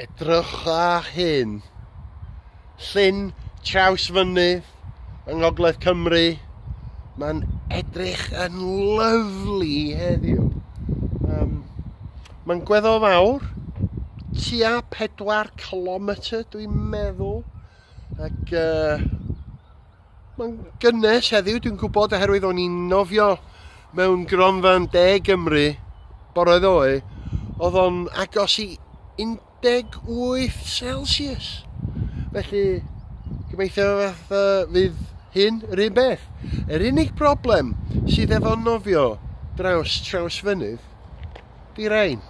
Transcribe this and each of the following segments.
Edrycha hyn. Llyn Trawsfynydd yng Ngogledd Cymru. Mae'n edrych yn lyfli heddiw. Mae'n gweddol fawr, tua 4 km dwi'n meddwl. Ac mae'n gynnes heddiw, dwi'n gwybod, oherwydd o'n i'n nofio mewn gronfa'n De Gymru bore ddoe, oedd o'n agos i 18 Celsius. Felly, gobeithio fath fydd hyn yr un beth. Yr unig broblem sydd efo nofio draws Trawsfynydd, di rein.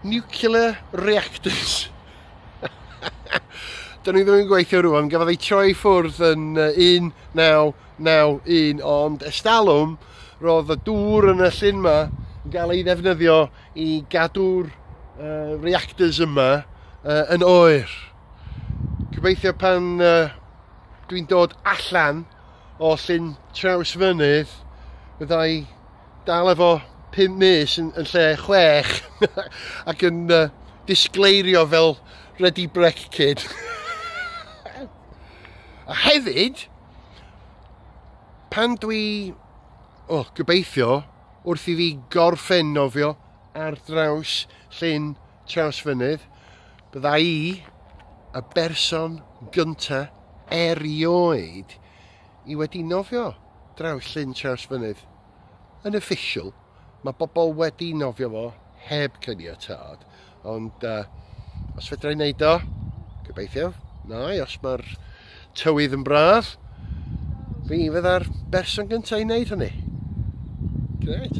Nuclear reactors. Dyn ni ddim yn gweithio rwan, gafodd ei troi ffwrdd yn 1991, ond estalwm roedd y dŵr yn y llyn yma yn cael ei ddefnyddio i gadw'r reactors yma yn oer. Gobeithio pan dwi'n dod allan o llyn Trawsfynydd, fyddai dal efo 5 mis yn lle 6 ac yn disgleirio fel Ready Brek Kid. A hefyd, pan dwi, gobeithio, wrth i fi gorffen nofio ar draws llyn Trawsfynydd, bydda i y berson gynta erioed i wedi nofio draws llyn Trawsfynydd. Yn official, mae bobl wedi nofio fo heb caniatâd, ond os fedra i wneud o, gobeithio, na i, os mae'r tywydd yn braf, fi fydda'r berson gyntaf i wneud hynny. Grêt.